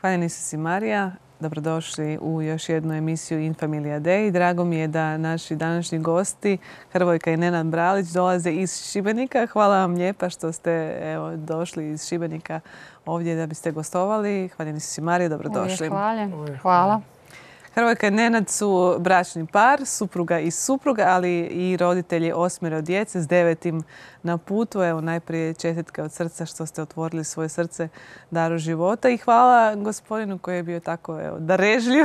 Hvala si Marija. Dobrodošli u još jednu emisiju In Familia Dei. Drago mi je da naši današnji gosti, Hrvojka i Nenad Bralić, dolaze iz Šibenika. Hvala vam lijepa što ste došli iz Šibenika ovdje da biste gostovali. Hvala si Marija, dobrodošli. Hvala. Hrvojka i Nenad su bračni par, supruga i supruga, ali i roditelji 8 djece s 9 na putu. Evo, najprije čestitke od srca što ste otvorili svoje srce daru života i hvala gospodinu koji je bio tako darežljiv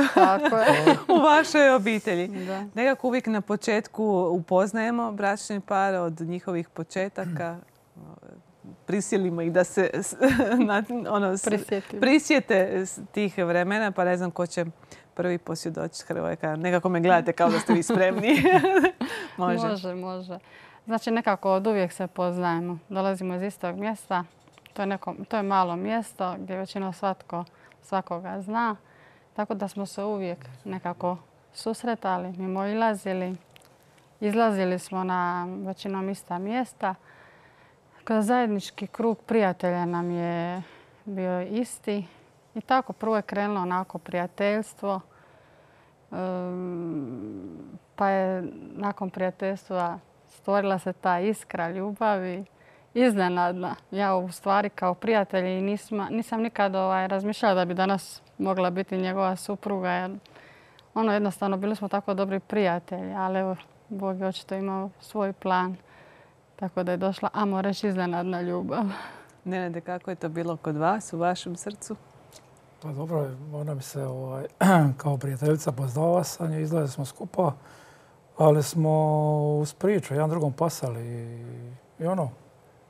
u vašoj obitelji. Da. Nekako uvijek na početku upoznajemo bračni par od njihovih početaka. Prisilimo ih da se prisjete tih vremena, pa ne znam ko će prvi posvjedočiti. Hrvojka. Nekako me gledate kao da ste vi spremni. Može. Znači nekako od uvijek se poznajemo. Dolazimo iz istog mjesta. To je malo mjesto gdje većinom svakoga zna. Tako da smo se uvijek nekako susretali, mimoilazili. Izlazili smo na većinom ista mjesta. Kroz zajednički krug prijatelja nam je bio isti. I tako prvo je krenulo onako prijateljstvo. Pa je nakon prijateljstva stvorila se ta iskra ljubavi. Iznenadna. Ja u stvari kao prijatelj nisam nikad razmišljala da bi danas mogla biti njegova supruga. Jer jednostavno bili smo tako dobri prijatelji. Ali evo, Bog je očito imao svoj plan. Tako da je došla, ajmo reći, iznenadna ljubav. Nenade, kako je to bilo kod vas, u vašem srcu? Pa dobro, ona mi se kao prijateljica poznala sa nje, izgledali smo skupa, ali smo uz priču jedan drugom pasali i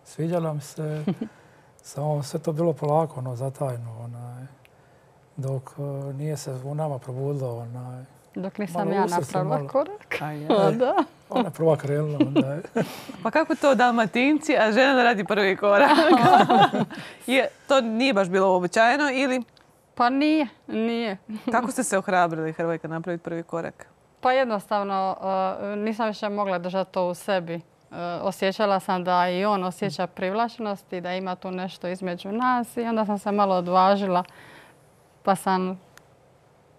sviđala mi se, samo sve to bilo polako, zatajno, dok nije se u nama probudilo. Dok nisam ja napravila korak. Da. Ona je prva krenula. Pa kako to Dalmatinci, a žena radi prvi korak? To nije baš bilo uobičajeno ili? Pa nije. Kako ste se ohrabrili, Hrvojka, napraviti prvi korak? Pa jednostavno nisam više mogla držati to u sebi. Osjećala sam da i on osjeća privlačnost i da ima tu nešto između nas i onda sam se malo odvažila pa sam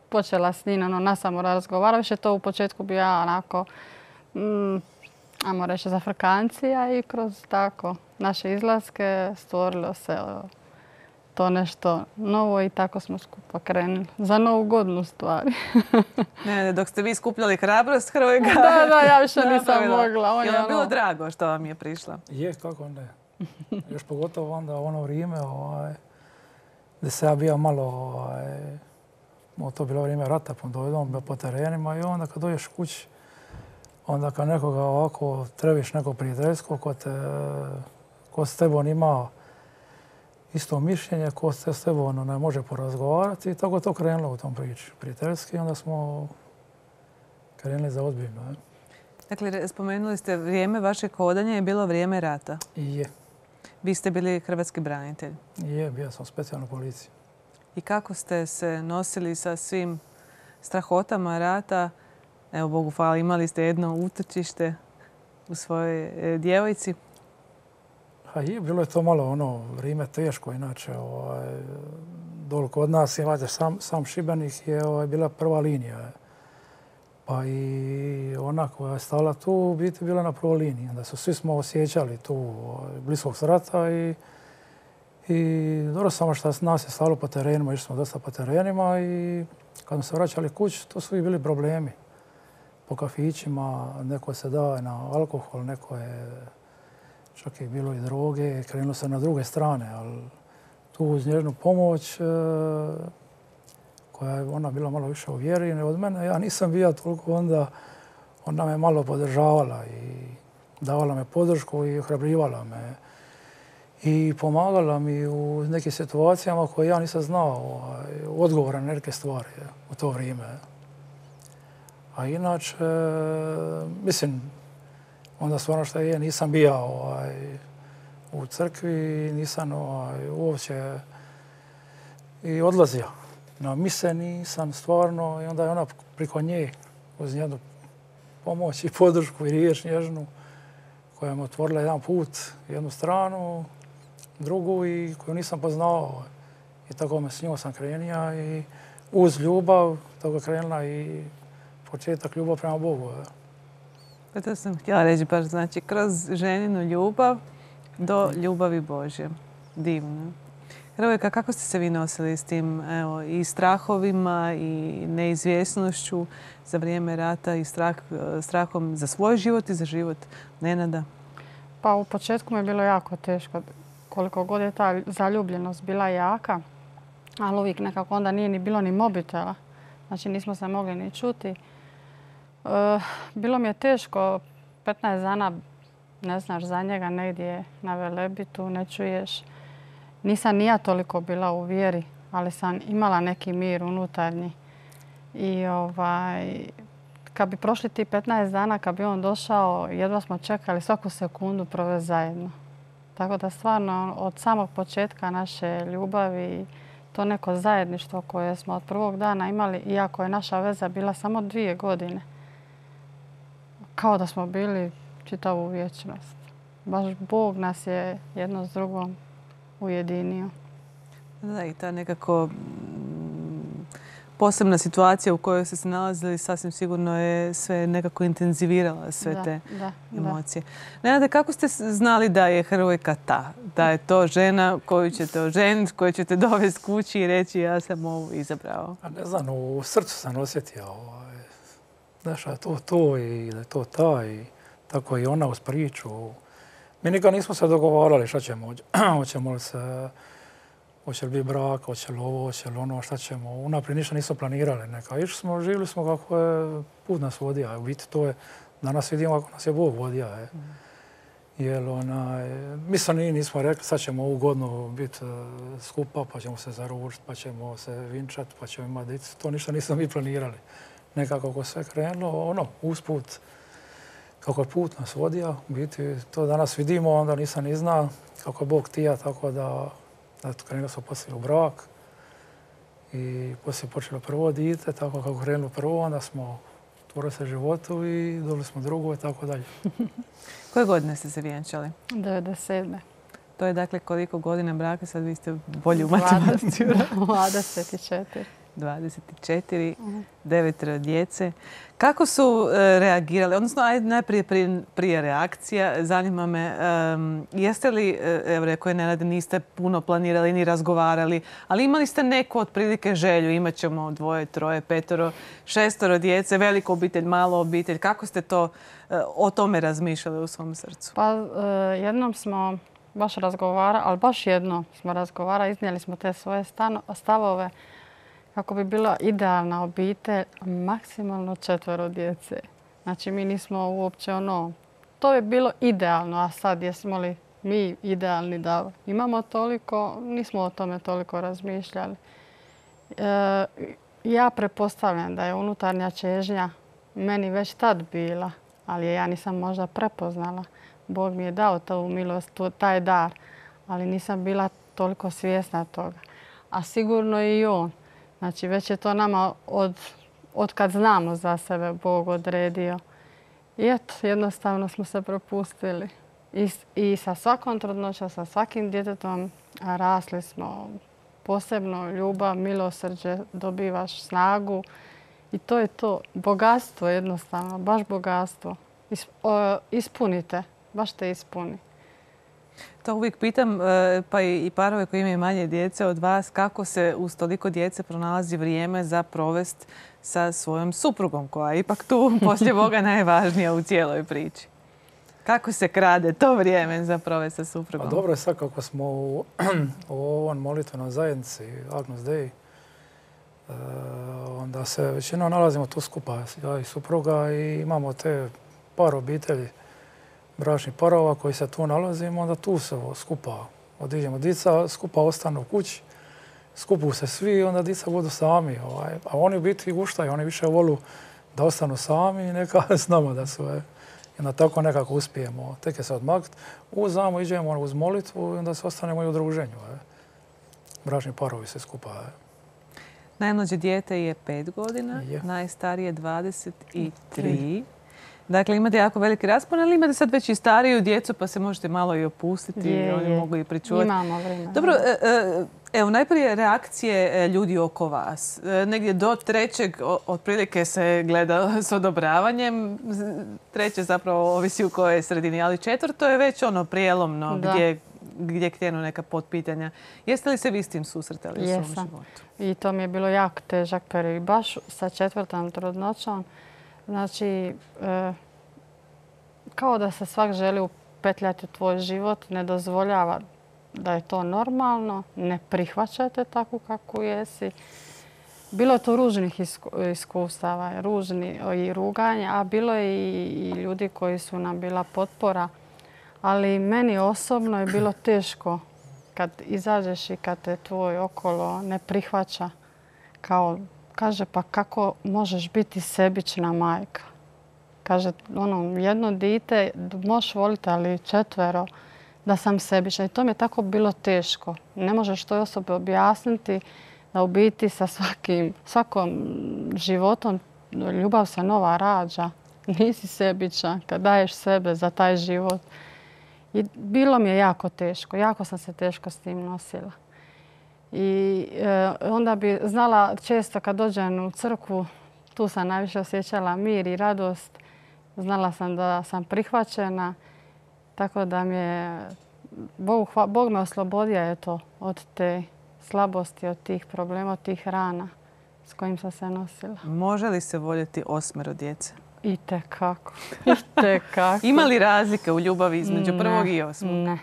počela s njim nasamo razgovarati. Više to u početku bio ja onako, ajmo reći, zafrkancija i kroz tako naše izlaske stvorilo se to nešto novo i tako smo skupa krenuli. Za Novu godinu stvari. Ne, dok ste vi skupljali hrabrost, Hrvojka. Da, ja više nisam mogla. Je vam bilo drago što vam je prišla? Je, kako ne. Još pogotovo onda ono vrijeme gdje se ja bio malo, to bilo vrijeme rata, dojdem po terenima i onda kad dođeš kući, onda kad nekoga ovako trebiš neko prijateljsko ko s tebom ima isto mišljenje, ko se s tebom ne može porazgovarati i tako je to krenulo u tom priči. Prijateljski onda smo krenuli za ozbiljno. Dakle, spomenuli ste vrijeme vašeg hodanja je bilo vrijeme rata. Je. Vi ste bili hrvatski branitelj. Je, bio sam u specijalnoj policiji. I kako ste se nosili sa svim strahotama rata? Evo, Bogu hvala, imali ste jedno utočište u svojoj djevojci. Bilo je to malo vrijeme teško, inače dole kod nas imate sam Šibenik je bila prva linija. Pa i ona koja je stala tu u biti bila na prvoj liniji. Onda svi smo osjećali tu bliskog rata i dobro samo što nas je stalo po terenima, išli smo dosta po terenima i kad smo se vraćali kući, to su i bili problemi. Po kafićima, neko se daje na alkohol, neko je čak je bilo i droge, krenulo se na druge strane, ali tu uz njezinu pomoć, koja je ona bila malo više uvjerena od mene, ja nisam bio toliko onda me malo podržavala i davala me podršku i ohrabrivala me. I pomagala mi u nekim situacijama koje ja nisam znao odgovora na neke stvari u to vrijeme. A inače, mislim, onda stvarno što je, nisam bio u crkvi, nisam uopće i odlazio na mise, nisam stvarno. I onda je ona priko nje uz njenu pomoć i podršku i riječ nježnu koja mi otvorila jedan put, jednu stranu, drugu i koju nisam poznao. I tako s njom sam krenija i uz ljubav tako je krenula i početak ljubav prema Bogu. Pa to sam htjela reći baš, znači kroz ženinu ljubav do ljubavi Božje. Divno. Hrvojka, kako ste se vi nosili s tim i strahovima i neizvjesnošću za vrijeme rata i strahom za svoj život i za život Nenada? Pa u početku mi je bilo jako teško. Koliko god je ta zaljubljenost bila jaka, ali uvijek nekako onda nije ni bilo ni mobitela. Znači nismo se mogli ni čuti. Bilo mi je teško, 15 dana ne znaš za njega negdje na Velebitu, ne čuješ. Nisam ni ja toliko bila u vjeri, ali sam imala neki mir unutarnji. I kad bi prošli ti 15 dana, kad bi on došao, jedva smo čekali svaku sekundu provesti zajedno. Tako da stvarno od samog početka naše ljubavi, to neko zajedništvo koje smo od prvog dana imali, iako je naša veza bila samo 2 godine, kao da smo bili čitavu vječnost. Baš Bog nas je jedno s drugom ujedinio. Da, i ta nekako posebna situacija u kojoj ste se nalazili sasvim sigurno je sve nekako intenzivirala sve te emocije. Nenade, kako ste znali da je Hrvojka ta? Da je to žena koju ćete oženiti, koju ćete dovesti kući i reći ja sam ovu izabrao? Ne znam, u srcu sam osjetio znaš, to i da je to ta i tako i ona uz priču. Mi nikad nismo se dogovarali šta ćemo, hoćemo li se, hoće li biti brak, hoće li ovo, hoće li ono, šta ćemo. Unaprijed ništa nismo planirali. Išli smo, živjeli smo kako je put nas vodio. U biti to je, danas vidimo kako nas je Bog vodio. Jer mislim nismo rekli sad ćemo ovu godinu biti skupa, pa ćemo se zaručiti, pa ćemo se vinčati, pa ćemo imati djecu. To ništa nismo mi planirali. Nekako kako sve krenulo, usput, kako je put nas vodio. U biti to danas vidimo, onda nisam ni znao kako je Bog htio, tako da krenuli smo poslije u brak i poslije počelo prvo dijete, tako kako krenulo prvo, onda smo otvorili se životu i dobili smo drugo i tako dalje. Koje godine ste se vjenčali? 97. To je dakle koliko godina braka, sad vi ste bolji u matematici. 24. 24, 9 djece. Kako su reagirali? Odnosno, najprije prije reakcija, zanima me, jeste li, evo rekao je Nenad, niste puno planirali ni razgovarali, ali imali ste neku otprilike želju, imat ćemo 2, 3, 5, 6 djece, veliku obitelj, malu obitelj. Kako ste o tome razmišljali u svom srcu? Pa jednom smo baš razgovarali, ali baš jednom smo razgovarali, iznijeli smo te svoje stavove, kako bi bila idealna obitelj, maksimalno 4 djece. Znači mi nismo uopće to je bilo idealno, a sad jesmo li mi idealni da imamo toliko, nismo o tome toliko razmišljali. Ja pretpostavljam da je unutarnja čežnja meni već tad bila, ali je ja nisam možda prepoznala. Bog mi je dao tu milost, taj dar, ali nisam bila toliko svjesna toga. A sigurno i on. Znači, već je to nama od kad znamo za sebe Bog odredio. I eto, jednostavno smo se propustili. I sa svakom trudnoćom, sa svakim djetetom rasli smo. Posebno ljubav, milosrđe, dobivaš snagu. I to je to. Bogatstvo jednostavno, baš bogatstvo. Ispunite, baš te ispuni. To uvijek pitam, pa i parove koji imaju manje djece od vas, kako se uz toliko djece pronalazi vrijeme za provest sa svojom suprugom, koja je ipak tu poslije Boga najvažnija u cijeloj priči. Kako se krade to vrijeme za provest sa suprugom? Pa dobro je sad kako smo u ovom molitvenoj zajednici, Agnus Dei, onda se većinom nalazimo tu skupa, ja i supruga, i imamo te par obitelji, bračnih parova koji se tu nalazimo, onda tu se skupa odiđemo. Dica skupa ostanu u kući, skupu se svi i onda dica budu sami. A oni u biti guštaju, oni više volu da ostanu sami i neka s nama da su. I onda tako nekako uspijemo. Tek je se odmaknuti. Uzamo, iđemo uz molitvu i onda se ostanemo i u druženju. Bračni parovi se skupa. Najmlađe dijete je 5 godina, najstarije 23. Dakle, imate jako veliki raspon, ali imate sad već i stariju djecu, pa se možete malo i opustiti i oni mogu i pričuvati. Imamo vremena. Dobro, evo, najprije reakcije ljudi oko vas. Negdje do trećeg otprilike se gleda s odobravanjem. Treće zapravo ovisi u kojoj sredini, ali četvrto je već ono prijelomno gdje krenu neka potpitanja. Jeste li se vi s tim susretali u svom životu? I to mi je bilo jako težak period. Baš sa 4. trudnoćom. Znači, kao da se svak želi upetljati u tvoj život, ne dozvoljava da je to normalno, ne prihvaćate takvu kakvu jesi. Bilo je to ružnih iskustava, ružni i ruganja, a bilo je i ljudi koji su nam bila potpora. Ali meni osobno je bilo teško kad izađeš i kad te tvoj okolo ne prihvaća. Kaže, pa kako možeš biti sebična majka? Kaže, jedno dite možeš voliti, ali 4 da sam sebična. I to mi je tako bilo teško. Ne možeš toj osobi objasniti da u biti sa svakom životom ljubav se nova rađa. Nisi sebičan kad daješ sebe za taj život. I bilo mi je jako teško. Jako sam se teško s tim nosila. I onda bi znala često kad dođem u crkvu, tu sam najviše osjećala mir i radost. Znala sam da sam prihvaćena. Tako da mi je Bog me oslobodio od te slabosti, od tih problema, od tih rana s kojim sam se nosila. Može li se voljeti 8 djece? Itekako. Ima li razlike u ljubavi između prvog i 8?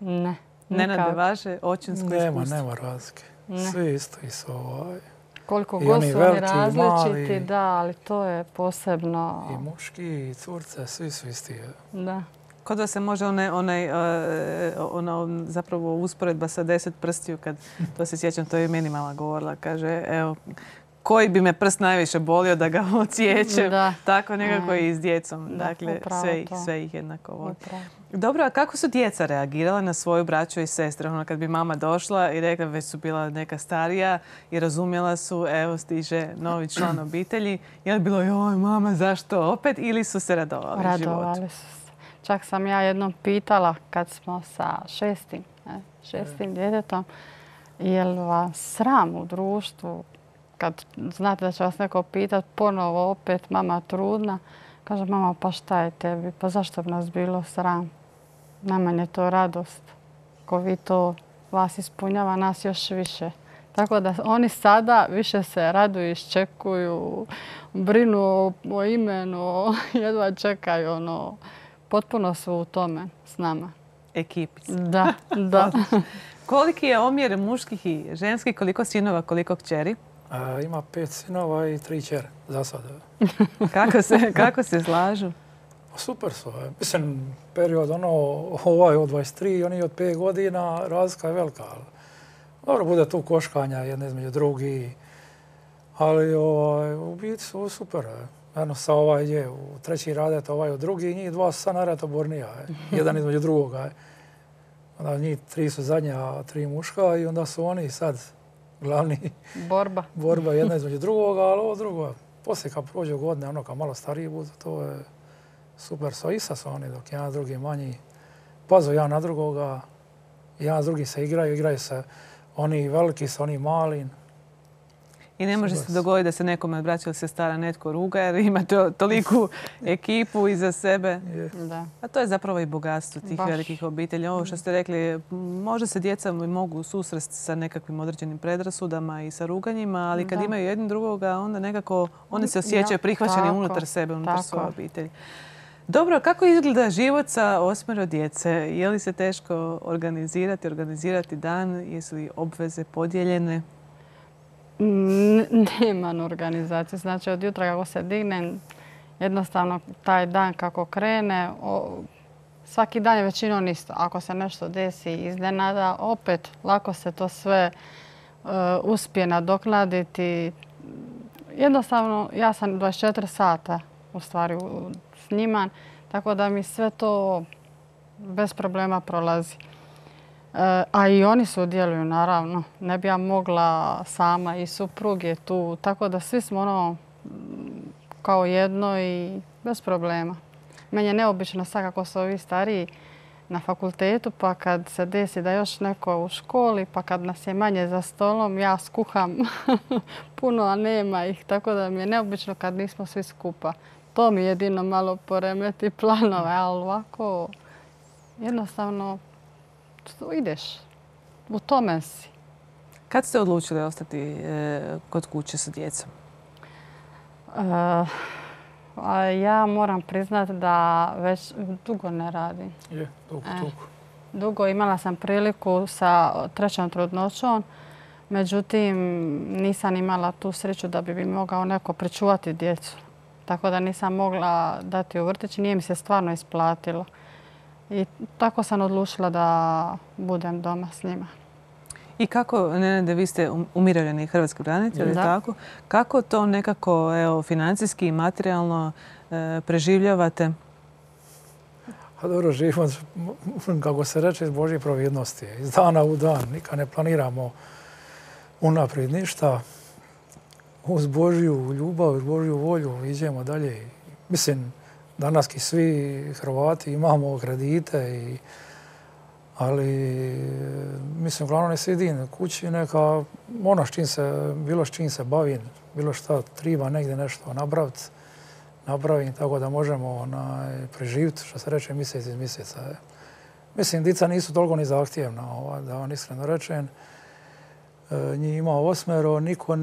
Ne. Nenade, vaše očinsko iskustvo? Nema razlike. Svi isto su koliko god su oni različiti, da, ali to je posebno. I muški, i curce, svi su isti. Da. Kod vas se može zapravo usporedba sa 10 prstiju, kad to se sjećam, to je meni mama govorila. Kaže, evo, koji bi me prst najviše bolio da ga odsjećem. Tako nekako i s djecom. Dakle, sve ih jednako voli. Dobro, a kako su djeca reagirala na svoju braću i sestre? Kad bi mama došla i rekla, već su bila neka starija i razumjela su, evo stiže novi član obitelji. Je li bilo, joj mama, zašto opet? Ili su se radovali životu? Radovali su se. Čak sam ja jednom pitala kad smo sa šestim djetetom, je li vas sram u društvu? Kad znate da će vas neko pitati ponovo opet, mama trudna, kaže mama, pa šta je tebi? Pa zašto bi nas bilo sram? Nama je to radost. Ko vi to vas ispunjava, nas još više. Tako da oni sada više se raduju, iščekuju, brinu o imenu, jedva čekaju. Potpuno su u tome s nama. Ekipica. Da. Koliki je omjer muških i ženskih? Koliko sinova, koliko kćeri? Ima 5 sinova i 3 kćeri za sada. Kako se slažu? Super su. Mislim, period ovaj od 23, oni od 5 godina, razlika je velika. Dobro, bude tu koškanja jedne između drugi. Ali u biti su super. Jedno sa je u 3. radet, u 2. njih 2 su sad naratobornija. Jedan između drugoga. Onda njih 3 su zadnja, 3 muška i onda su oni sad glavni. Borba jedna između drugoga, ali ovo drugo. Poslije kad prođe godine, kad malo stariji budu, to je super. Isa su oni, dok jedan drugi manji. Pazu jedan na drugoga, jedan s drugim se igraju se oni veliki sa oni mali. I ne može se dogoditi da se nekome od braća ili sestara netko ruga jer ima toliku ekipu iza sebe. A to je zapravo i bogatstvo tih velikih obitelji. Ovo što ste rekli, možda se djeca mogu susresti sa nekakvim određenim predrasudama i sa ruganjima, ali kad imaju jedni drugoga, onda nekako oni se osjećaju prihvaćeni unutar sebe, unutar svoje obitelji. Dobro, kako izgleda život sa 8 djece? Je li se teško organizirati dan? Jesu li obveze podijeljene? Nema organizacije. Znači, od jutra kako se dignem, jednostavno taj dan kako krene, svaki dan je većinom isto. Ako se nešto desi iznenada, opet lako se to sve uspije nadoknaditi. Jednostavno, ja sam 24 sata u stvari s njima, tako da mi sve to bez problema prolazi. A i oni sudjeluju, naravno. Ne bi ja mogla sama i suprug je tu. Tako da svi smo kao jedno i bez problema. Meni je neobično sad kako su ovi stariji na fakultetu, pa kad se desi da još neko u školi, pa kad nas je manje za stolom, ja skuham puno, a nema ih. Tako da mi je neobično kad nismo svi skupa. To mi jedino malo poremeti planove, ali ovako jednostavno ideš. U tome si. Kad ste odlučili ostati kod kuće sa djecom? Ja moram priznati da već dugo ne radim. Dugo imala sam priliku sa 3. trudnoćom, međutim nisam imala tu sreću da bi mi mogao neko pričuvati djecu. Tako da nisam mogla dati u vrtić, nije mi se stvarno isplatilo. I tako sam odlučila da budem doma s njima. I kako, Nenade, vi ste umirovljeni hrvatski branitelj, tako? Kako to nekako financijski i materijalno preživljavate? A dobro, živimo, kako se reče, iz Božje providnosti. Iz dana u dan. Nikad ne planiramo unaprijed ništa. Uz Božju ljubav, uz Božju volju idemo dalje. Mislim, danas svi Hrvati imamo kredite, ali mislim, uglavnom ne sidim kući, neka ono bilo s čim se bavim, bilo šta treba negdje nešto napravim, tako da možemo preživjeti, što se reče, mjesec iz mjeseca. Mislim, djeca nisu toliko ni zahtjevna, da vam iskreno rečem. Njih ima 8, niko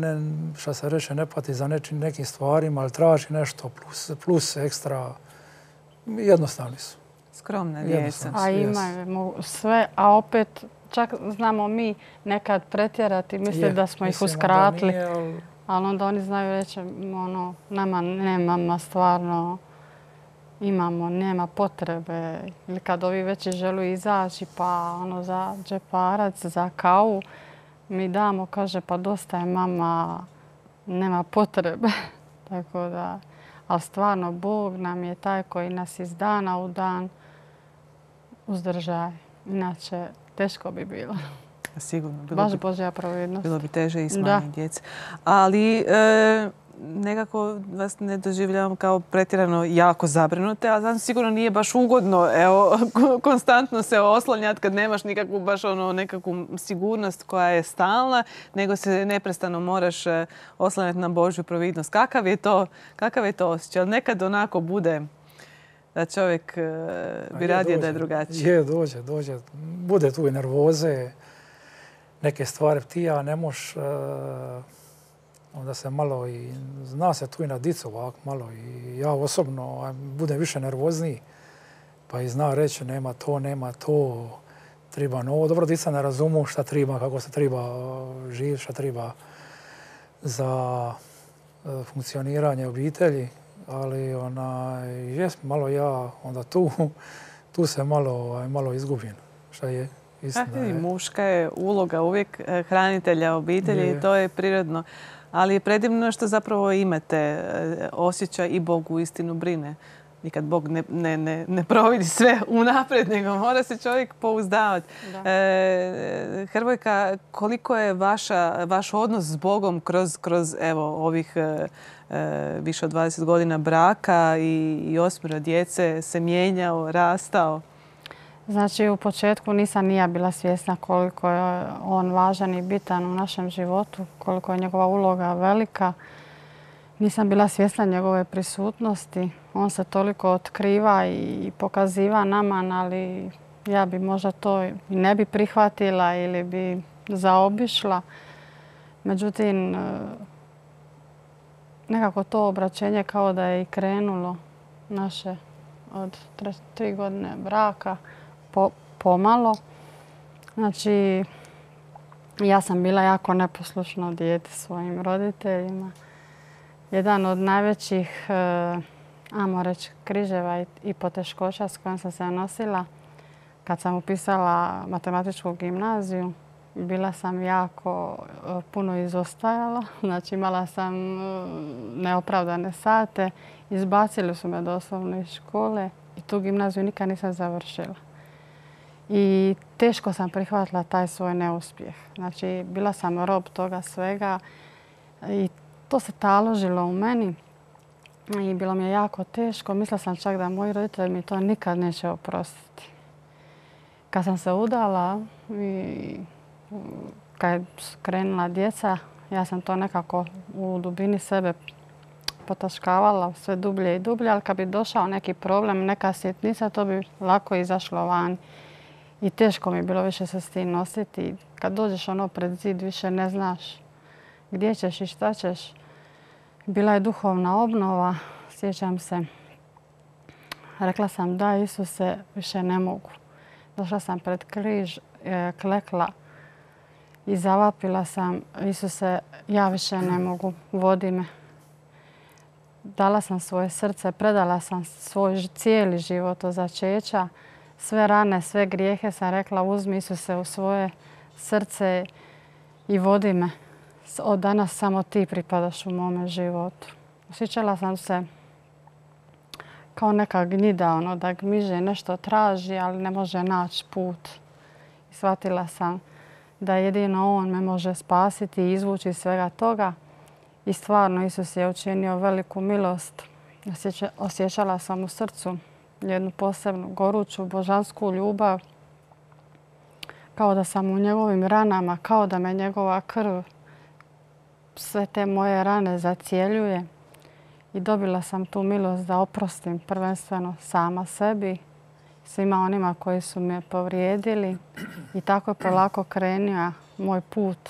što se reče, ne pati za nekim stvarima, ali traži nešto plus ekstra. Jednostavni su. Skromna djeca. A imaju sve, a opet čak znamo mi nekad pretjerati, misli da smo ih uskratili. Ali onda oni znaju reći, nama nemamo stvarno, nema potrebe. Ili kad ovi već žele izaći pa za džeparac, za kavu, mi damo, kaže, pa dosta je mama, nema potrebe. Tako da, ali stvarno Bog nam je taj koji nas iz dana u dan uzdržaje. Inače, teško bi bilo. Sigurno. Baš Božja providnost. Bilo bi teže i s manje djece. Ali nekako vas ne doživljavam kao pretjerano jako zabrinute, ali znam sigurno nije baš ugodno konstantno se oslanjati kad nemaš nikakvu baš nekakvu sigurnost koja je stalna, nego se neprestano moraš oslanjati na Božju providnost. Kakav je to osjećaj? Nekad onako bude da čovjek bi radije da je drugačije. Dođe. Bude tu i nervoze, neke stvari ti ne moš, onda se malo i zna se tu i na dicu ovako malo i ja osobno budem više nervozniji pa i zna reći nema to, treba novo. Dobro, dica ne razumu šta treba, kako se treba živjeti, šta treba za funkcioniranje obitelji, ali jest malo ja onda tu se malo izgubim, šta je. Muška je uloga uvijek hranitelja obitelji i to je prirodno. Ali je predivno što zapravo imate osjećaj i Bog uistinu brine. Nikad Bog ne providi sve unaprijed, nego mora se čovjek pouzdavati. Hrvojka, koliko je vaš odnos s Bogom kroz ovih više od 20 godina braka i 8 djece se mijenjao, rastao? Znači, u početku nisam ni ja bila svjesna koliko je on važan i bitan u našem životu, koliko je njegova uloga velika. Nisam bila svjesna njegove prisutnosti. On se toliko otkriva i pokaziva nama, ali ja bi možda to i ne bi prihvatila ili bi zaobišla. Međutim, nekako to obraćenje kao da je i krenulo naše od 3 godine braka. Pomalo. Znači, ja sam bila jako neposlušno dijete svojim roditeljima. Jedan od najvećih, ajmo reći, križeva i poteškoća s kojom sam se nosila kad sam upisala matematičku gimnaziju, bila sam jako puno izostajala. Znači, imala sam neopravdane sate. Izbacili su me doslovno iz škole i tu gimnaziju nikad nisam završila. I teško sam prihvatila taj svoj neuspjeh. Znači, bila sam rob toga svega i to se taložilo u meni. I bilo mi je jako teško. Mislila sam čak da moji roditelji mi to nikad neće oprostiti. Kad sam se udala i kad je krenula djeca, ja sam to nekako u dubini sebe potaškavala sve dublje i dublje, ali kad bi došao neki problem, neka sitnica, to bi lako izašlo van. I teško mi je bilo više se s tim nositi. Kad dođeš pred zid, više ne znaš gdje ćeš i šta ćeš. Bila je duhovna obnova, sjećam se. Rekla sam da, Isuse, više ne mogu. Došla sam pred križ, klekla i zavapila sam, Isuse, ja više ne mogu, vodi me. Dala sam svoje srce, predala sam svoj cijeli život od začeća. Sve rane, sve grijehe sam rekla, uzmi Isuse u svoje srce i vodi me. Od danas samo ti pripadaš u mome životu. Osjećala sam se kao neka gnjida, da gmiže, nešto traži, ali ne može naći put. I shvatila sam da jedino on me može spasiti i izvući iz svega toga. I stvarno Isus je učinio veliku milost. Osjećala sam u srcu jednu posebnu goruću božansku ljubav. Kao da sam u njegovim ranama, kao da me njegova krv sve te moje rane zacjeljuje. I dobila sam tu milost da oprostim prvenstveno sama sebi, svima onima koji su me povrijedili. I tako je polako krenio moj put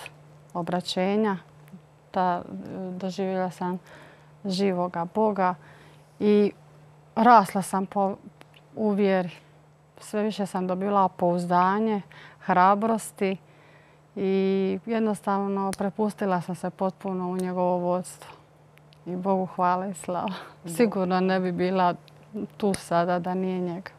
obraćenja. Doživjela sam živoga Boga i rasla sam u vjeri. Sve više sam dobila pouzdanje, hrabrosti i jednostavno prepustila sam se potpuno u njegovo vodstvo. I Bogu hvala i slava. Sigurno ne bi bila tu sada da nije njega.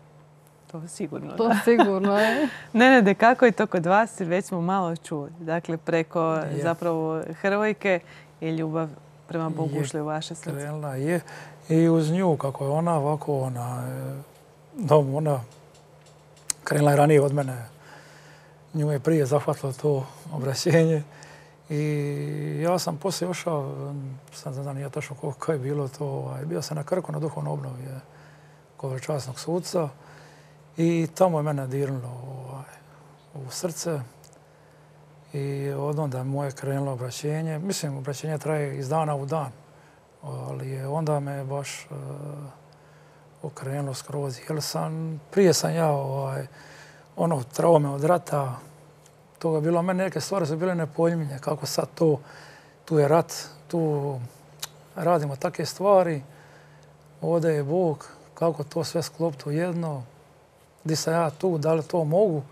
To sigurno. To sigurno je. Nenade, kako je to kod vas? Već smo malo čuli. Dakle, preko zapravo Hrvojke je ljubav prema Bogu ušli u vaše srce. Krenula je. I uz nju, kako je ona ovako, ona krenula je ranije od mene. Nju je prije zahvatilo to obraćenje. I ja sam poslije ošao, sad ne znam nije točno kako je bilo to, bio sam na Krku na duhovnoj obnovi kod časnog suca. I tamo je mene dirnulo u srce i od onda moje krenulo obraćenje. Mislim, obraćenje traje iz dana u dan, ali onda me baš okrenulo skroz. Jer prije sam ja traume od rata, toga je bilo, meni neke stvari su bile nepojmljive, kako sad to, tu je rat, tu radimo takve stvari, ovdje je Bog, kako to sve sklopiti u jedno. Gdje sam ja tu, da li to mogu,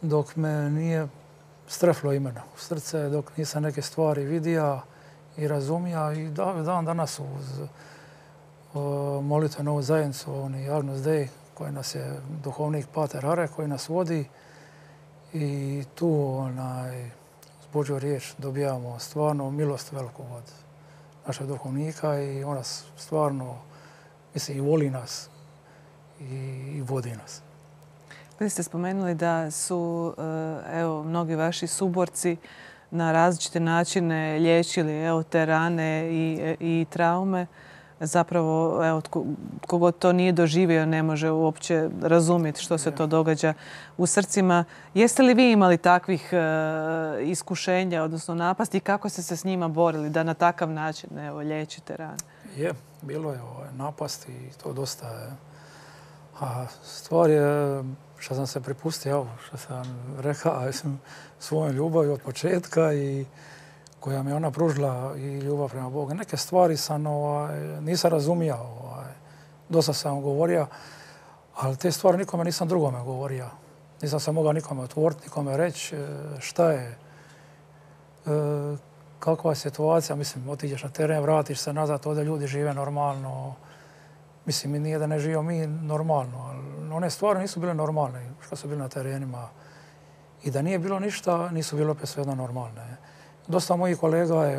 dok me nije streflo imena u srce, dok nisam neke stvari vidio i razumija. I dan danas uz molitvenu zajednicu, Agnus Dei, koji nas je duhovnik Pater Are, koji nas vodi. I tu s Božju riječ dobijamo stvarno milost veliku od našeg duhovnika i on nas stvarno, mislim, i voli nas i vodi nas. Vi ste spomenuli da su mnogi vaši suborci na različite načine liječili te rane i traume. Zapravo, tko god to nije doživio ne može uopće razumjeti što se to događa u srcima. Jeste li vi imali takvih iskušenja, odnosno napasti i kako ste se s njima borili da na takav način liječite rane? Bilo je napasti i to dosta je. A stvar je što sam se pripustio, što sam rekao, svojom ljubavi od početka i koja mi je ona pružila i ljubav prema Bogu. Neke stvari sam nisam razumio, dosta sam govorio, ali te stvari nikome nisam drugome govorio. Nisam se mogao nikome otvoriti, nikome reći šta je, kakva je situacija. Mislim, otiđeš na teren, vratiš se nazad, ovdje ljudi žive normalno. Mislim, mi nije da ne živimo mi normalno, ali one stvari nisu bile normalne što su bile na terenima. I da nije bilo ništa, nisu bile opet svejedno normalne. Dosta mojih kolega je,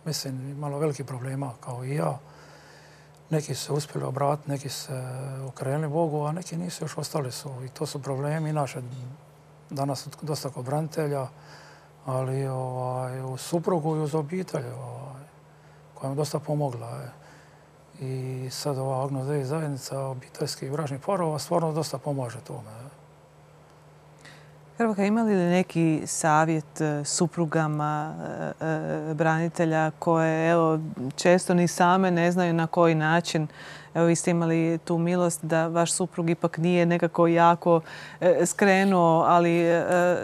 mislim, imalo velikih problema kao i ja. Neki su se uspjeli obratiti, neki se okrenuli Bogu, a neki nisu, još ostali su. I to su problemi naše danas dosta kod branitelja, ali uz suprugu i uz obitelj koja mi dosta pomogla. I sad ova Agnus Dei zajednica obiteljskih bračnih parova stvarno dosta pomaže tome. Hrvoka, ima li neki savjet suprugama branitelja koje evo, često ni same ne znaju na koji način? Evo, vi ste imali tu milost da vaš suprug ipak nije nekako jako skrenuo, ali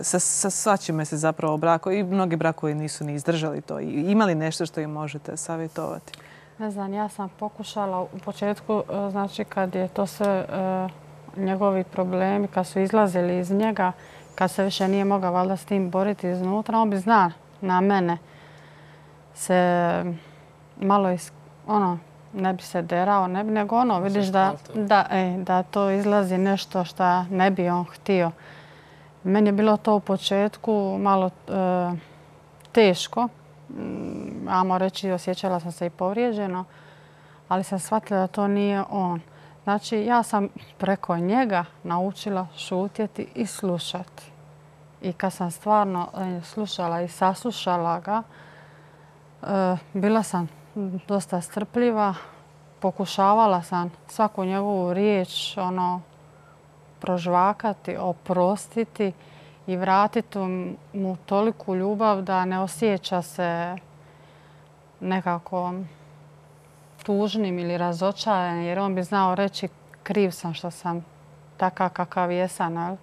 sa svačime se zapravo brako i mnogi brakovi nisu ni izdržali to. Ima li nešto što im možete savjetovati? Ne znam, ja sam pokušala u početku, znači kad je to sve njegovi problemi, kad su izlazili iz njega, kad se više nije mogao valjda s tim boriti iznutra, on bi zna na mene se malo ne bi se derao, nego vidiš da to izlazi nešto što ne bi on htio. Meni je bilo to u početku malo teško. Ajmo reći, osjećala sam se i povrijeđeno, ali sam shvatila da to nije on. Znači, ja sam preko njega naučila šutjeti i slušati. I kad sam stvarno slušala i saslušala ga, bila sam dosta strpljiva. Pokušavala sam svaku njegovu riječ prožvakati, oprostiti i vratiti mu toliku ljubav da ne osjeća se nekako tužnim ili razočaran, jer on bi znao reći kriv sam što sam takav kakav jesam.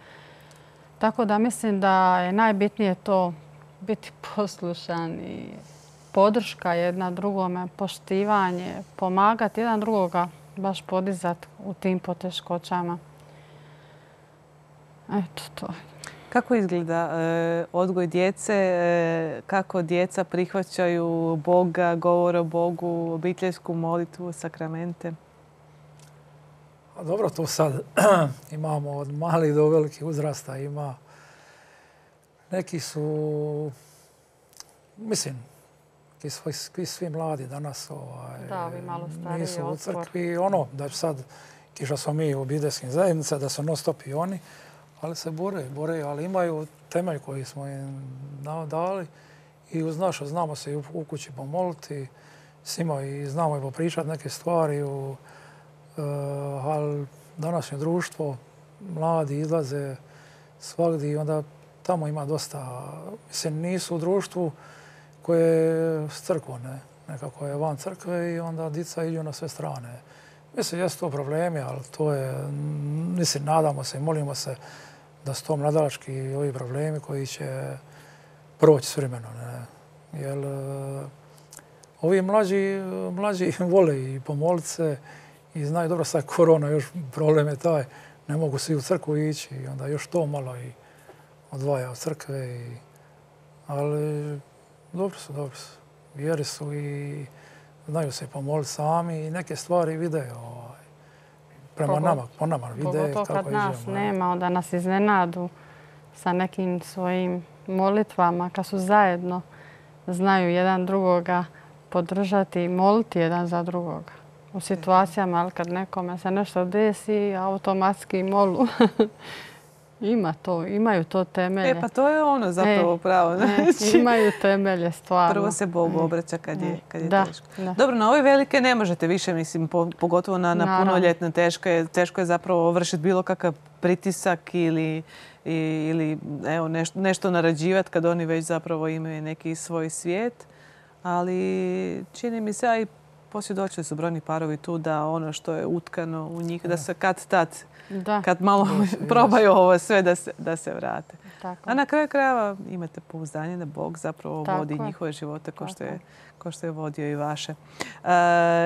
Tako da mislim da je najbitnije to biti poslušan i podrška jedna drugome, poštivanje, pomagati jedan drugoga, baš podizati u tim poteškoćama. Eto to. Kako izgleda odgoj djece? Kako djeca prihvaćaju Boga, govor o Bogu, obiteljsku molitvu, sakramente? Dobro, to sad imamo od malih do velikih uzrasta. Neki su, mislim, svi mladi danas nisu u crkvi. Da sad, kiša smo mi u obiteljskim zajednicama, da su non stop i oni, ali se bore, ali imaju temelj koji smo im dali i uz naše znamo se i u kući pomoliti, s njima i znamo i popričati neke stvari, ali današnje društvo, mladi izlaze svagdje i onda tamo ima dosta, mislim, nisu u društvu koje je s crkvom, nekako je van crkve i onda djeca idu na sve strane. Mislim, jesu to problemi, ali to je, mislim, nadamo se i molimo se da su to mladalački ovi problemi koji će proći s vremenom. Jer ovi mlađi vole i pomoliti se i znaju dobro sad korona, još problem je taj, ne mogu svi u crkvu ići i onda još to malo i odvaja od crkve. Ali dobro su. Vjeri su i znaju se pomoliti sami i neke stvari vide prema nama, po nama vide kako iđemo. Pogotovo kad nas nema, onda nas iznenadu sa nekim svojim molitvama, kad su zajedno, znaju jedan drugoga podržati i moliti jedan za drugoga. U situacijama, ali kad nekome se nešto desi, automatski molu. Imaju to temelje. Pa to je ono zapravo pravo. Imaju temelje stvarno. Prvo se Bogu obraća kad je teško. Dobro, na ove velike ne možete više, mislim, pogotovo na punoljetne teško je zapravo vršiti bilo kakav pritisak ili evo, nešto narađivati kad oni već zapravo imaju neki svoj svijet. Ali čini mi se, a i posvjedočili su brojni parovi tu da ono što je utkano u njih, da se kad malo probaju ovo sve da se vrate. Tako. A na kraju krajeva imate pouzdanje da Bog zapravo vodi njihove živote kao što je vodio i vaše.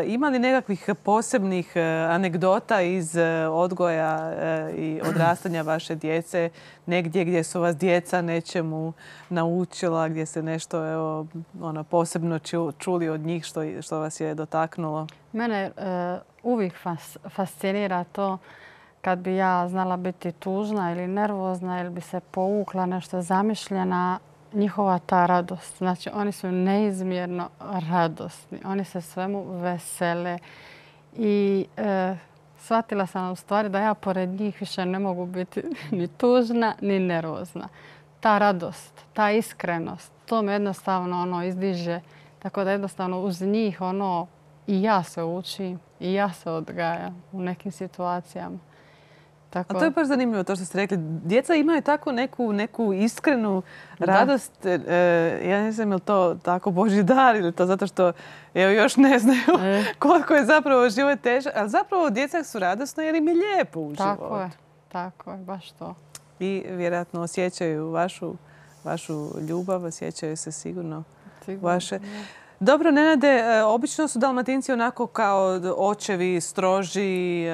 Ima li nekakvih posebnih anegdota iz odgoja i odrastanja vaše djece, negdje gdje su vas djeca nečemu naučila, gdje ste nešto posebno čuli od njih što vas je dotaknulo? Mene uvijek fascinira to kad bi ja znala biti tužna ili nervozna ili bi se povukla nešto zamišljena, njihova ta radost. Znači, oni su neizmjerno radosni. Oni se svemu vesele. I shvatila sam u stvari da ja pored njih više ne mogu biti ni tužna ni nervozna. Ta radost, ta iskrenost, to me jednostavno izdiže Tako da jednostavno uz njih i ja se učim i ja se odgajam u nekim situacijama. A to je baš zanimljivo to što ste rekli. Djeca imaju takvu neku iskrenu radost. Ja ne znam je li to tako Božji dar ili to zato što još ne znaju koliko je zapravo život težak. Ali zapravo djeca su radosna jer im je lijepo u životu. Tako je, baš to. I vjerojatno osjećaju vašu ljubav, osjećaju se sigurno vaše. Dobro, Nenade, obično su Dalmatinci onako kao očevi, stroži,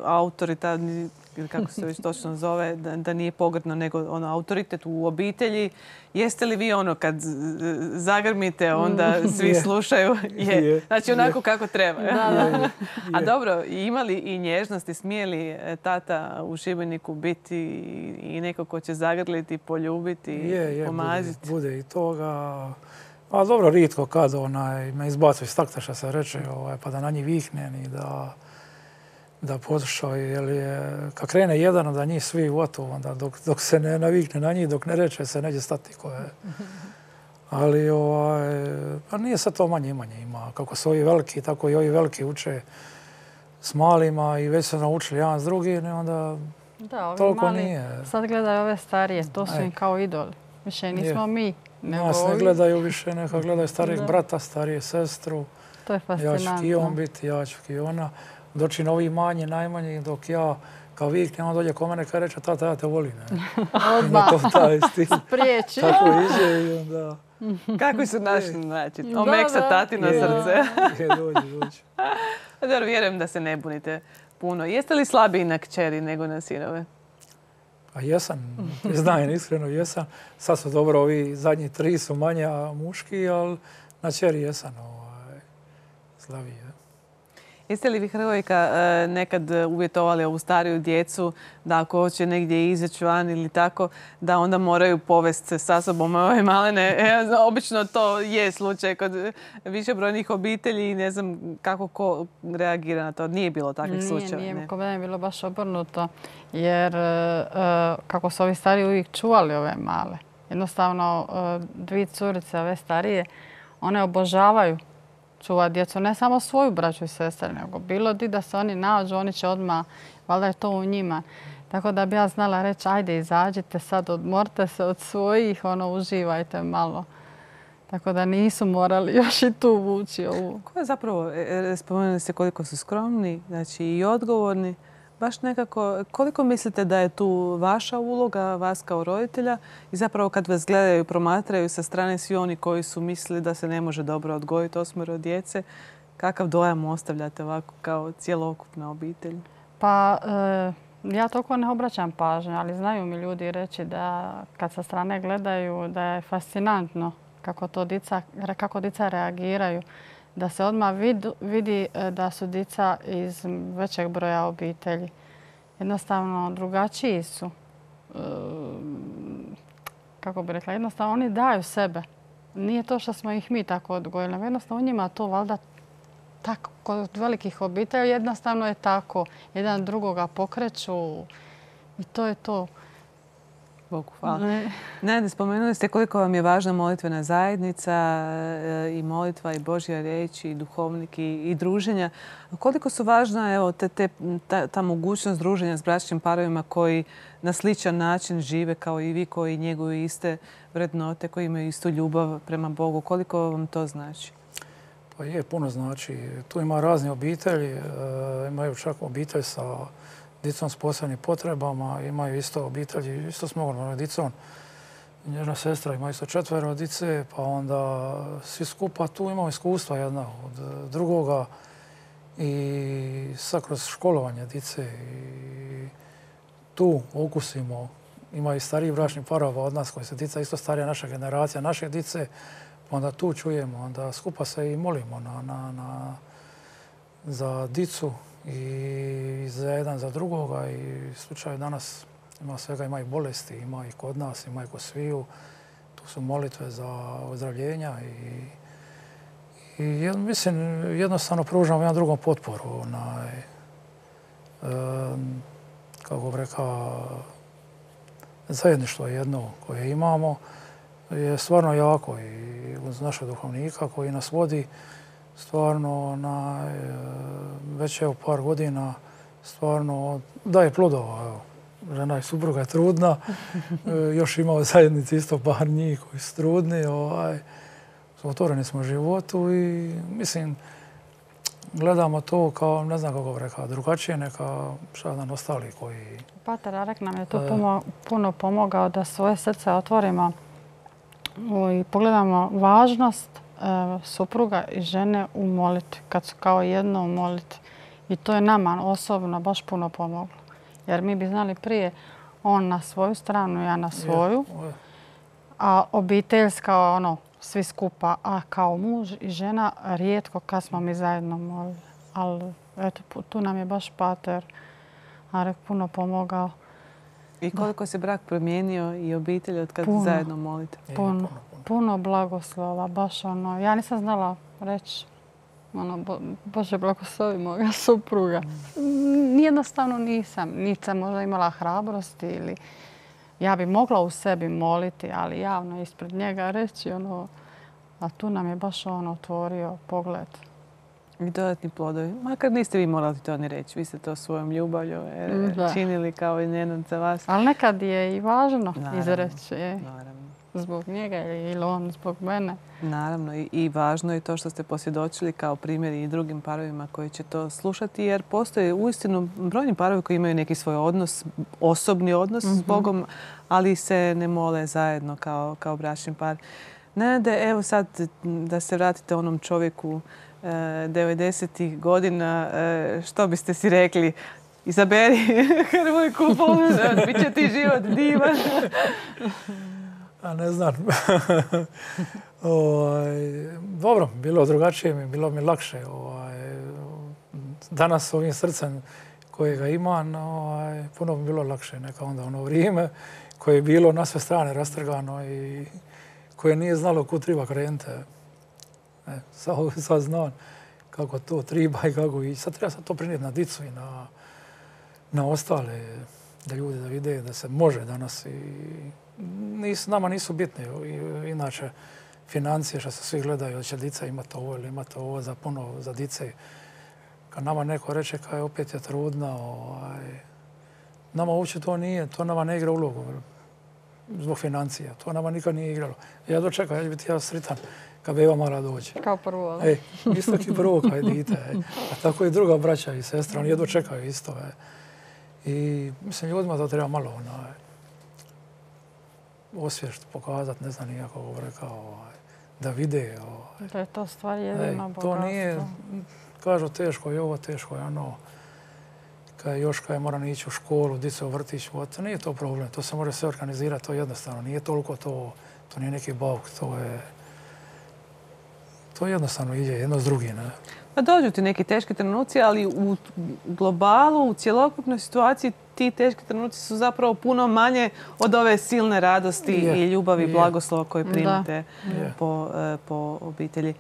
autoritarni, ili kako se već točno zove, da nije pogrdno, nego autoritet u obitelji. Jeste li vi kad zagrmite, onda svi slušaju? Je. Znači onako kako treba. A dobro, ima li i nježnosti, smije li tata u Šibeniku biti i neko ko će zagrliti, poljubiti, pomaziti? Bude i toga. A dobro, rijetko kad me izbacu iz takta, što se reče, pa da na njih viknem i da poslušaju. Jer kad krene jedan, da njih svi gotovo, onda dok se ne navikne na njih, dok ne reče se, neće stati koje. Ali pa nije sad to manje ima. Kako su ovi veliki, tako i ovi veliki uče s malima i već su naučili jedan s drugim, onda toliko nije. Sad gledaju ove starije, to su im kao idoli. Više nismo mi. Nas ne gledaju više, neka gledaju starijeg brata, starije sestru. To je fascinantno. Ja ću ki on biti, ja ću ki ona. Doći novi manji, najmanji, dok ja kao viknem, on dođe ko mene kada reče, tata, ja te volim. Odmah. Spriječi. Tako iđe i onda... Kako su našli način? Omeksa tatino srce. Dođe. Dobro, vjerujem da se ne bunite puno. Jeste li slabiji na kćeri nego na sinove? A jesam, priznajem, iskreno jesam. Sad su dobro, ovi zadnji 3 su manje muški, ali na kćeri jesam slabiji. Jeste li vi, Hrvojka, nekad uvjetovali ovu stariju djecu da ako hoće negdje izaći van ili tako, da onda moraju povesti se sa sobom ove malene? Obično to je slučaj kod višebrojnih obitelji i ne znam kako ko reagira na to. Nije bilo takvih slučajeva. Nije, kod mene je bilo baš obrnuto. Jer kako su ovi stariji uvijek čuvali ove male. Jednostavno, 2 curice, ove starije, one obožavaju čuva djecu, ne samo svoju braću i sestre, nego bilo di da se oni nađu, oni će odmah, valjda je to u njima. Tako da bi ja znala reći, ajde izađite sad, odmorite se od svojih, uživajte malo. Tako da nisu morali još i tu vući ovu. Ko je zapravo, spomenuli ste koliko su skromni, znači i odgovorni. Baš nekako, koliko mislite da je tu vaša uloga, vas kao roditelja i zapravo kad vas gledaju i promatraju sa strane svi oni koji su mislili da se ne može dobro odgojiti 8 djece, kakav dojam ostavljate ovako kao cjelokupna obitelj? Pa ja toliko ne obraćam pažnju, ali znaju mi ljudi reći da kad sa strane gledaju da je fascinantno kako dica reagiraju. Da se odmah vidi da su dica iz većeg broja obitelji. Jednostavno drugačiji su. Kako bih rekla, jednostavno oni daju sebe. Nije to što smo ih mi tako odgojili. Jednostavno u njima to valjda tako. Kod velikih obitelji jednostavno je tako. Jedan drugoga pokreću i to je to. Bogu hvala. Ne, spomenuli ste koliko vam je važna molitvena zajednica i molitva i Božja riječ i duhovnik i druženja. Koliko su važna ta mogućnost druženja s bračnim parovima koji na sličan način žive kao i vi, koji njeguju iste vrednote, koji imaju istu ljubav prema Bogu. Koliko vam to znači? Pa je, puno znači. Tu ima razne obitelji. Imaju čak obitelj sa dicom s posebnim potrebama, imaju isto obitelji, isto s mnogom dicom. Njena sestra ima isto 4 dice, pa onda svi skupa tu imamo iskustva jedna od drugoga i sad kroz školovanje dice i tu okusimo. Ima i stariji bračni parova od nas koji se dica isto starija naša generacija, naše dice, pa onda tu čujemo, onda skupa se i molimo za dicu i za jedan za drugoga i slučaju danas ima svega, ima i bolesti, ima i kod nas, ima i kod sviju. Tu su molitve za ozdravljenja i mislim jednostavno pružamo jedan drugom potporu. Kako bih rekao, zajedništvo jedno koje imamo je stvarno jako i uz našeg duhovnika koji nas vodi stvarno na već evo par godina stvarno daje plodova. Evo. Žena i supruga je trudna, još ima u zajednici isto par njih koji su trudni. Otvoreni smo životu i mislim gledamo to kao, ne znam kako bi rekao, drugačije neka jedan ostali koji... Pater Arek nam je to puno pomogao da svoje srce otvorimo i pogledamo važnost supruga i žene u molitvi, kad su kao jedno u molitvi. I to je nama osobno baš puno pomoglo. Jer mi bi znali prije on na svoju stranu, ja na svoju, a obiteljska svi skupa, a kao muž i žena rijetko kad smo mi zajedno molili. Ali eto, tu nam je baš Pater Arek puno pomogao. I koliko se brak promijenio i obitelj od kad zajedno molite? Puno blagoslova, baš ja nisam znala reći Bože blagoslovi moga supruga. Jednostavno nisam. Nisam možda imala hrabrosti ili ja bi mogla u sebi moliti, ali javno ispred njega reći a tu nam je baš otvorio pogled. I dodatni plodovi. Makar niste vi morali to ni reći. Vi ste to svojom ljubavlju činili kao i Nenad za vas. Ali nekad je i važno izreći. Naravno. Zbog njega ili on zbog mene. Naravno i važno je to što ste posvjedočili kao primjer i drugim parovima koji će to slušati jer postoje uistinu brojni parovi koji imaju neki svoj odnos, osobni odnos s Bogom, ali se ne mole zajedno kao bračni par. Nenade, evo sad da se vratite onom čovjeku 90-ih godina, što biste si rekli? Izaberi Hrvojku, bit će ti život divan. A ne znam. Dobro, bilo drugačije, bilo mi lakše. Danas s ovim srcem kojega imam, puno bi bilo lakše neka onda ono vrijeme koje je bilo na sve strane rastrgano i koje nije znalo kud treba krenuti. Sad znam kako to treba i kako ići. Sad treba to prinijeti na dicu i na ostale, da ljudi da vide da se može danas nama nisu bitne. Inače, financije što se svi gledaju, da će dica imati ovo ili imati ovo za dice. Kad nama neko reče kaj opet je trudna, nama uopće to nije, to nama ne igra ulogu zbog financija. To nama nikad nije igralo. Ja dočekam, ja ću biti sritan kad beba mala dođe. Kao prvo. Isto ki prvo kaj dite. A tako i druga braća i sestra, oni jedno čekaju isto. I mislim, ljudima to treba malo osviješt, pokazati, ne znam nijako ovo rekao, da vide. Da je to stvar jedino bogatstvo. To nije, kažu teško je ovo, teško je ono, kad još moram ići u školu, dice u vrtić, to nije to problem, to se može sve organizirati, to je jednostavno, nije toliko to nije neki bauk, to jednostavno ide jedno s drugim. Pa dođu ti neki teški trenuci, ali u globalu, u cjelokupnoj situaciji ti teški trenuci su zapravo puno manje od ove silne radosti i ljubavi i blagoslova koje primite po obitelji.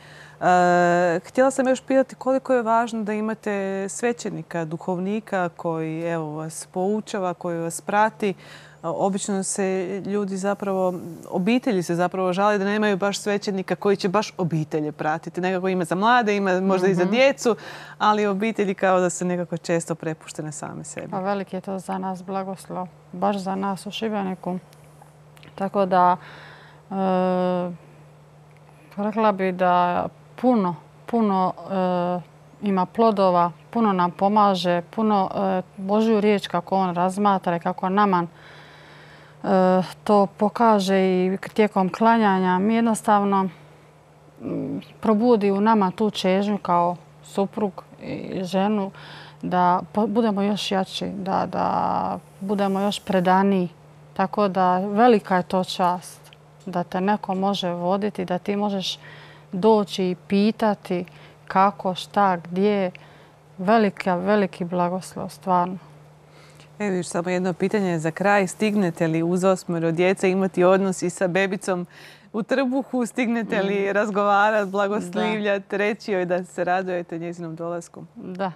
Htjela sam još pitati koliko je važno da imate svećenika, duhovnika koji vas poučava, koji vas prati. Obično se ljudi obitelji se zapravo žale da nemaju baš svećenika koji će baš obitelje pratiti. Nekako ima za mlade, ima možda i za djecu, ali obitelji kao da se nekako često prepuštene same sebi. Pa veliki je to za nas blagoslov, baš za nas u Šibeniku. Tako da rekla bi da puno ima plodova, puno nam pomaže, puno Božju riječ kako on razmatra i kako nama to pokaže i tijekom klanjanja. Mi jednostavno probudi u nama tu čežnju kao suprug i ženu da budemo još jači, da budemo još predaniji. Tako da velika je to čast da te neko može voditi, da ti možeš doći i pitati kako, šta, gdje. Veliki blagoslov, stvarno. Evo još samo jedno pitanje za kraj. Stignete li uz 8 djece imati odnos i sa bebicom u trbuhu? Stignete li razgovarati, blagoslivljati, reći joj da se radujete njezinom dolasku? Da.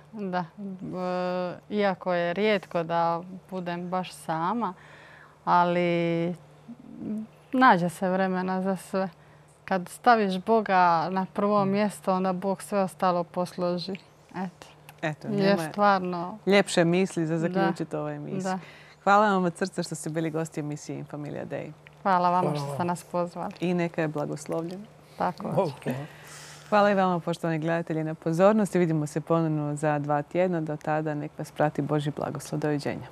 Iako je rijetko da budem baš sama, ali nađe se vremena za sve. Kad staviš Boga na prvo mjesto, onda Bog sve ostalo posloži. Eto, je stvarno ljepše misli za zaključiti ovoj emisiji. Hvala vam od srca što ste bili gosti emisije In Familia Dei. Hvala vam što ste nas pozvali. I neka je blagoslovljena. Tako. Hvala i vama, poštovani gledatelji, na pozornosti. Vidimo se ponovno za 2 tjedna. Do tada nek vas prati Božji blagoslov. Doviđenja.